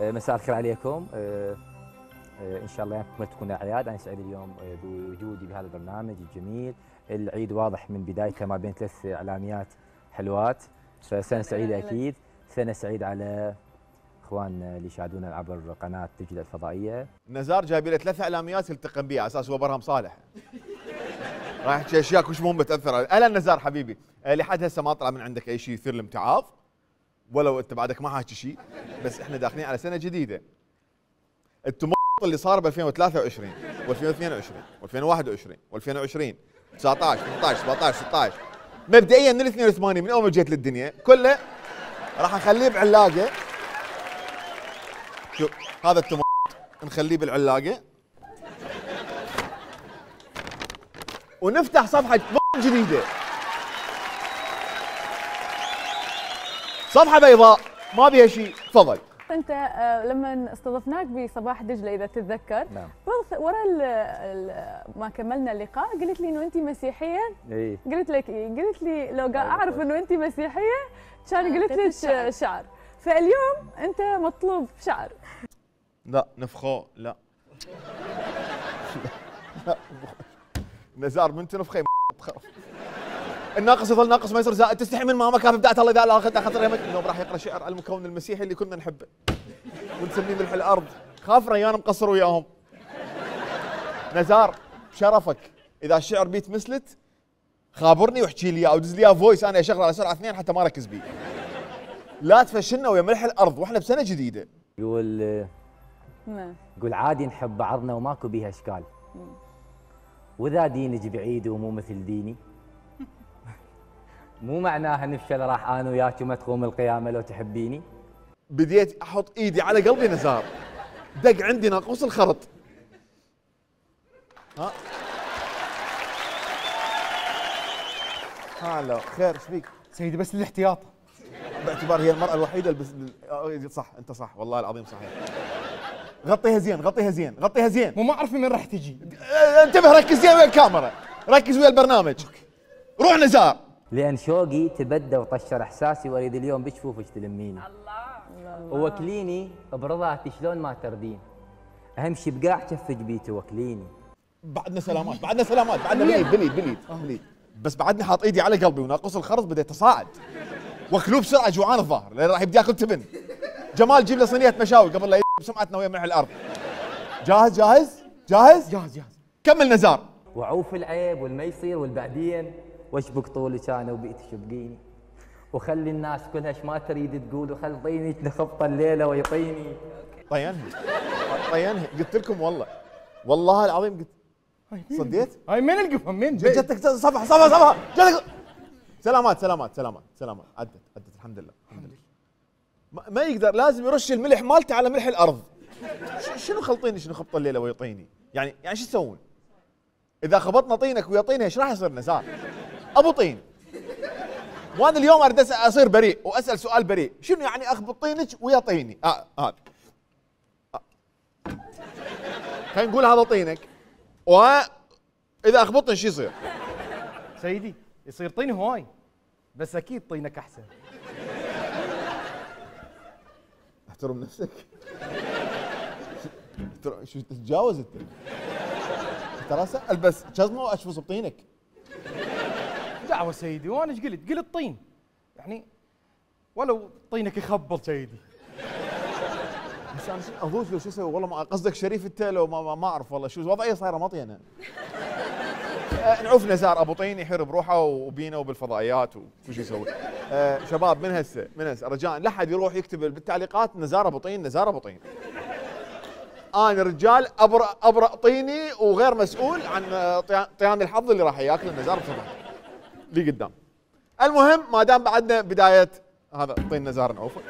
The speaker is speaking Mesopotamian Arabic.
مساء الخير عليكم. ان شاء الله يومكم تكون اعياد. انا سعيد اليوم بوجودي بهذا البرنامج الجميل. العيد واضح من بدايته ما بين ثلاث اعلاميات حلوات، فسنه سعيده اكيد. سنه سعيده على اخواننا اللي يشاهدونا عبر قناه دجله الفضائيه. نزار جايب له ثلاث اعلاميات يلتقم بها على اساس هو برهم صالح. راح يحكي اشياء كلش مهمه تاثر عليه. اهلا نزار حبيبي، لحد هسه ما طلع من عندك اي شيء يثير الامتعاض، ولو انت بعدك ما حاكي شيء، بس احنا داخلين على سنه جديده. التمط اللي صار ب 2023 و2022 و2021 و2020 19 18 17 16 مبدئيا من ال 82 من اول ما جيت للدنيا كله راح اخليه بعلاقه. شوف هذا التمط نخليه بالعلاقه ونفتح صفحه جديده، صفحه بيضاء ما بيها شيء. تفضل. انت لما استضفناك بصباح دجله اذا تتذكر، نعم. ورا ما كملنا اللقاء قلت لي انه انت مسيحيه. اي قلت لك ايه؟ قلت لي لو اعرف انه انت مسيحيه كان قلت لك شعر. فاليوم انت مطلوب شعر. لا نفخوه لا لا نزار من تنفخي الناقص يظل ناقص ما يصير زائد. تستحي من ماما كافي بدأت الله اذا لا اخذت خاطر يمك. اليوم راح يقرا شعر المكون المسيحي اللي كنا نحبه ونسميه ملح الارض. خاف ريان مقصر وياهم. نزار بشرفك اذا الشعر بيت مسلت خابرني واحكي لي او دز لي فويس انا اشغل على سرعه 2 حتى ما اركز بيه. لا تفشلنا ويا ملح الارض واحنا بسنه جديده. يقول عادي نحب بعضنا وماكو بيها اشكال، واذا دينك بعيد ومو مثل ديني مو معناها نفشل راح انا وياك وما تقوم القيامه لو تحبيني. بديت احط ايدي على قلبي نزار، دق عندي ناقوس الخرط. ها هلا خير ايش فيك؟ سيدي بس للاحتياط، باعتبار هي المرأة الوحيدة اللي صح انت صح والله العظيم صحيح. غطيها زين غطيها زين غطيها زين. مو ما اعرف من راح تجي. انتبه ركز زين ويا الكاميرا، ركز ويا البرنامج. روح نزار. لان شوقي تبدى وطشر احساسي واريد اليوم بجفوفك تلميني. الله ووكليني برضاك شلون ما تردين، اهم شي بقاع كفك بي توكليني. بعدنا سلامات بعدنا سلامات بعدنا بليد. بس بعدني حاط ايدي على قلبي وناقص الخرط بديت اصاعد. واكلوه بسرعه جوعان الظاهر لان راح يبدي ياكل تبن. جمال جيب له صينيه مشاوي قبل لا بسمعتنا ويا ملح الارض. جاهز جاهز جاهز جاهز. كمل نزار. وعوف العيب والما يصير والبعدين واشبك طولك انا وبيت شبقيني، وخلي الناس كلها ايش ما تريد تقول، وخل طينك نخبط الليله ويطيني. طينها قلت لكم والله العظيم قلت. صديت؟ هاي من القفا من جتك صفحه جتك. سلامات عدت الحمد لله. ما يقدر لازم يرش الملح مالته على ملح الارض. شنو خلطيني شنو خبط الليله ويطيني؟ يعني شو تسوون؟ اذا خبطنا طينك ويا طينها ايش راح يصير نزار؟ ابو طين. وانا اليوم اريد اصير بريء واسال سؤال بريء، شنو يعني اخبط طينك ويا طيني؟ خلينا نقول هذا طينك واذا اخبطني شو يصير؟ سيدي يصير طين هواي بس اكيد طينك احسن. احترم نفسك. شو تتجاوز انت؟ ترى البس جزمه واشفص بطينك. دعوه سيدي وانا ايش قلت طين يعني ولو طينك يخبل سيدي. بس انا اضوج لو شو اسوي والله ما قصدك شريف انت لو ما اعرف والله شو وضعيه صايره مطينه. نعوف نزار ابو طين يحر بروحه وبينا وبالفضائيات وشو يسوي. شباب من هسه رجاء لا احد يروح يكتب بالتعليقات نزار ابو طين نزار ابو طين. انا رجال ابرأ طيني وغير مسؤول عن طيان الحظ اللي راح ياكل النزار بصباح اللي قدام. المهم ما دام بعدنا بدايه هذا طين نزار نعوفه.